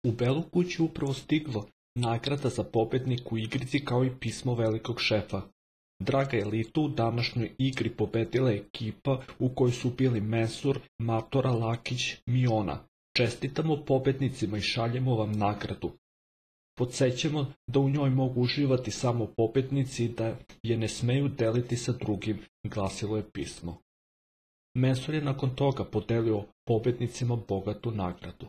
U Belu kuću upravo stiglo nagrada za pobednik u igrici kao i pismo velikog šefa. Draga elitu, u današnjoj igri pobedila je ekipa u kojoj su bili Mesur, Matora, Lakić, Miona. Čestitamo pobednicima i šaljemo vam nagradu. Podsećamo da u njoj mogu uživati samo pobednici i da je ne smeju deliti sa drugim, glasilo je pismo. Mesur je nakon toga podelio pobednicima bogatu nagradu.